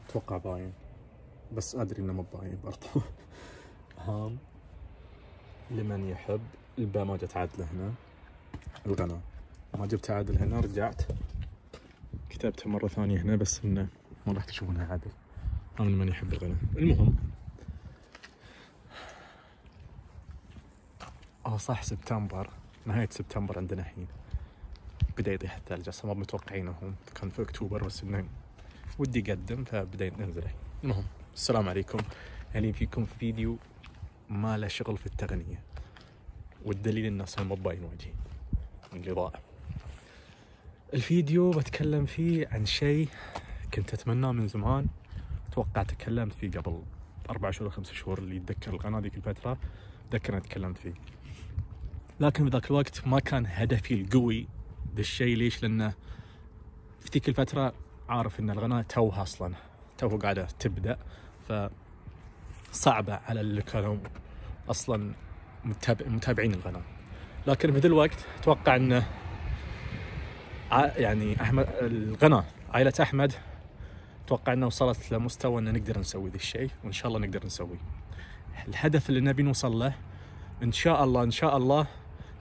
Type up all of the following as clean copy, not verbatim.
اتوقع باين، بس ادري انه مو باين برضه. هام لمن يحب. الباء ما جت عادله هنا. الغناء ما جبت عادل هنا، رجعت كتبتها مرة ثانية هنا بس انه ما راح تشوفونها عادل. هام لمن يحب الغناء. المهم صح، سبتمبر، نهاية سبتمبر عندنا الحين بدأ يطيح الثلج. اصلا ما متوقعينه، هم كان في اكتوبر بس انه ودي اقدم فبدأ ننزل الحين. المهم السلام عليكم. يعني فيكم فيديو ما له شغل في التغنية، والدليل الناس ما باين وجهي اللي ضاع. الفيديو بتكلم فيه عن شيء كنت اتمناه من زمان. اتوقع تكلمت فيه قبل 4 شهور 5 شهور، اللي يتذكر القناة ذيك الفترة ذكر أنا تكلمت فيه، لكن بذاك الوقت ما كان هدفي القوي ذا الشيء. ليش؟ لأنه في ذيك الفترة عارف إن القناة توها أصلا قاعدة تبدأ، فصعبة على اللي كانوا أصلا متابعين القناة. لكن في ذا الوقت أتوقع إنه يعني أحمد القناة عائلة أحمد أتوقع إنه وصلت لمستوى إن نقدر نسوي ذا الشيء، وإن شاء الله نقدر نسويه. الهدف اللي نبي نوصل له إن شاء الله إن شاء الله.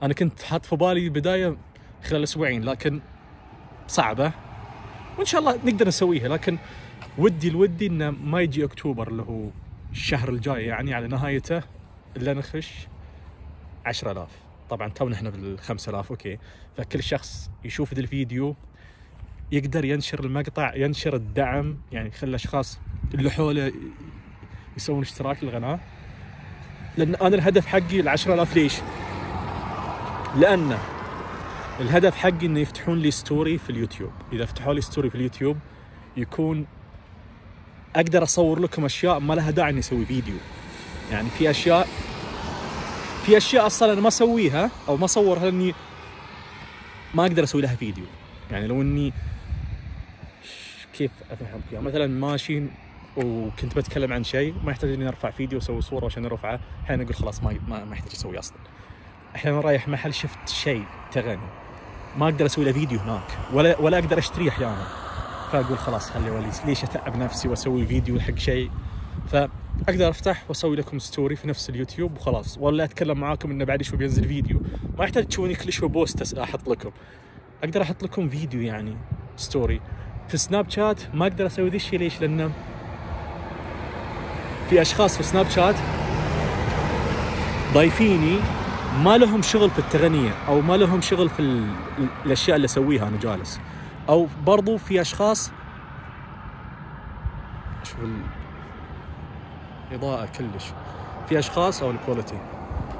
أنا كنت حاط في بالي بداية خلال أسبوعين، لكن صعبة وإن شاء الله نقدر نسويها. لكن ودي إنه ما يجي أكتوبر اللي هو الشهر الجاي يعني على نهايته إلا نخش 10,000. طبعا تونا إحنا بال5,000 أوكي. فكل شخص يشوف ذا الفيديو يقدر ينشر المقطع، ينشر الدعم، يعني خلي الأشخاص اللي حوله يسوون اشتراك للقناة. لأن أنا الهدف حقي 10,000. ليش؟ لأن الهدف حقي إنه يفتحون لي ستوري في اليوتيوب. إذا فتحوا لي ستوري في اليوتيوب يكون أقدر أصور لكم أشياء ما لها داعي إني أسوي فيديو. يعني في أشياء أصلا أنا ما أسويها أو ما أصورها لأني ما أقدر أسوي لها فيديو. يعني لو إني كيف أفهمك يعني، مثلا ماشي وكنت بتكلم عن شيء ما يحتاج إني أرفع فيديو وأسوي صورة عشان أرفعه. أحيانا أقول خلاص ما يحتاج أسوي أصلا. أحيانا رايح محل شفت شيء تغني ما أقدر أسوي له فيديو هناك، ولا أقدر أشتريه أحيانا، فأقول خلاص خلي ولي ليش أتعب نفسي وأسوي فيديو حق شيء. فأقدر أفتح وأسوي لكم ستوري في نفس اليوتيوب وخلاص، ولا أتكلم معاكم إنه بعد شوي بينزل فيديو. ما يحتاج تشوفوني كل شوي بوست أحط لكم، أقدر أحط لكم فيديو يعني ستوري. في سناب شات ما أقدر أسوي ذي الشيء. ليش؟ لأنه في أشخاص في سناب شات ضايفيني ما لهم شغل في التغنية أو ما لهم شغل في الأشياء اللي أسويها أنا جالس. أو برضو في أشخاص شوف الإضاءة كلش، في أشخاص أو الكواليتي،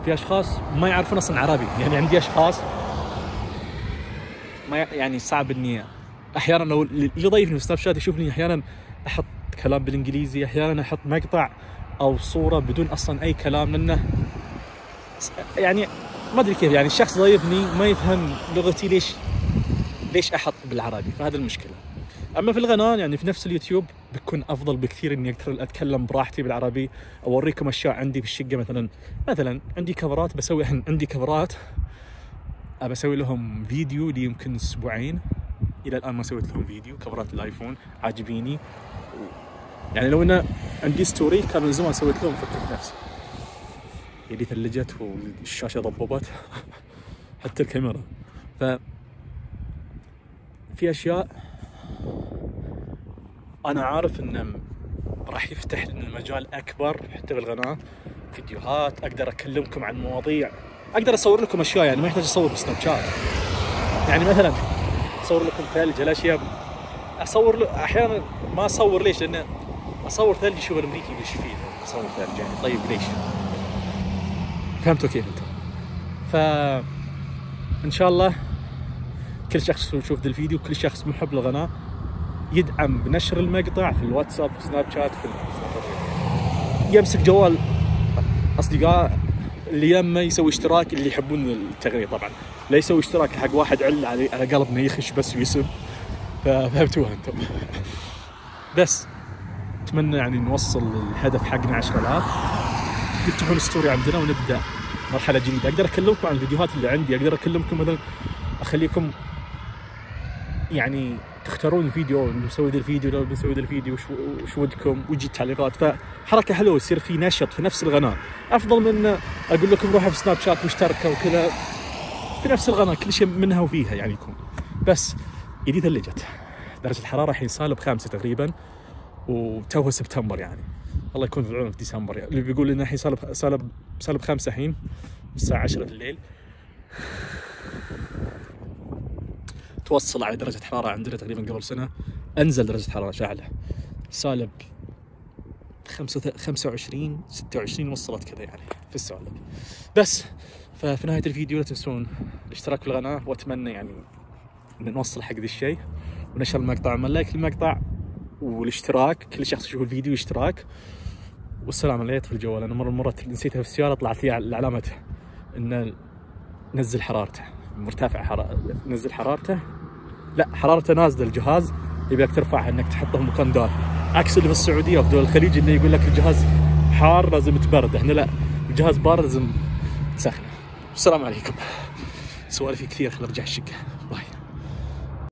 في أشخاص ما يعرفون أصلا عربي. يعني عندي أشخاص ما يعني صعب إني أحيانا لو اللي ضيفني في سناب شات يشوفني أحيانا أحط كلام بالإنجليزي، أحيانا أحط مقطع أو صورة بدون أصلا أي كلام، لأنه يعني ما أدري كيف. يعني الشخص ضيفني ما يفهم لغتي، ليش أحط بالعربي؟ فهذا المشكلة. أما في القناة يعني في نفس اليوتيوب بيكون أفضل بكثير إني أقدر أتكلم براحتي بالعربي، أوريكم أشياء عندي في الشقة. مثلا عندي كفرات بسوي، عندي كفرات أبى أسوي لهم فيديو لي يمكن أسبوعين إلى الآن ما سويت لهم فيديو. كفرات الآيفون عاجبيني، يعني لو أنا عندي ستوري كان من زمان سويت لهم، فكرت نفسي يدي ثلجت والشاشة ضببت حتى الكاميرا. في أشياء أنا عارف إنه راح يفتح لنا المجال أكبر حتى بالقناة، فيديوهات أقدر أكلمكم عن مواضيع، أقدر أصور لكم أشياء يعني ما يحتاج أصور بسناب شات. يعني مثلا أصور لكم ثلج، الأشياء أصور أحيانا ما أصور. ليش؟ لأن أصور ثلج شوف الأمريكي وش فيه أصور ثلج يعني. طيب ليش؟ فهمتوا كيف أنتم؟ فإن شاء الله كل شخص يشوف ذا الفيديو، كل شخص محب للقناة يدعم بنشر المقطع في الواتساب، في سناب شات، يمسك جوال أصدقاء اللي يما يسوي اشتراك، اللي يحبون التغنية طبعا، لا يسوي اشتراك حق واحد على قلبنا يخش بس ويسب. فهمتوها أنتم؟ بس أتمنى يعني نوصل الهدف حقنا 10,000، يفتحون ستوري عندنا ونبدأ مرحلة جديدة. أقدر أكلمكم عن الفيديوهات اللي عندي، أقدر أكلمكم مثلا أخليكم يعني تختارون الفيديو، بنسوي ذا الفيديو، لو بنسوي ذا الفيديو وش ودكم، ويجي التعليقات. فحركه حلوه، يصير في نشط في نفس القناه، افضل من اقول لكم روحوا في سناب شات واشتركوا وكذا. في نفس القناه كل شيء منها وفيها يعني يكون. بس ايدي ثلجت، درجه الحراره الحين -5 تقريبا، وتوه سبتمبر يعني. الله يكون في العون في ديسمبر يعني. اللي بيقول لنا الحين -5 الحين الساعه 10 الليل. توصل على درجة حرارة عندنا تقريبا قبل سنة، أنزل درجة حرارة شاعلة -25 26 وصلت كذا يعني في السالب. بس ففي نهاية الفيديو لا تنسون الاشتراك في القناة، وأتمنى يعني إن نوصل حق ذي الشيء، ونشر المقطع، ومن لايك المقطع والاشتراك، كل شخص يشوف الفيديو اشتراك. والسلام عليكم في الجوال. أنا مرات نسيتها في السيارة، طلعت لي علامة إن نزل حرارته، مرتفع نزل حرارته، لا حرارته نازله، الجهاز يبيك ترفعها انك تحطه في مكان دافي، عكس اللي في السعوديه وفي دول الخليج اللي يقول لك الجهاز حار لازم تبرده. هنا لا، الجهاز بارد لازم تسخنه. السلام عليكم. سوالفي كثير، خل ارجع الشقه. باي.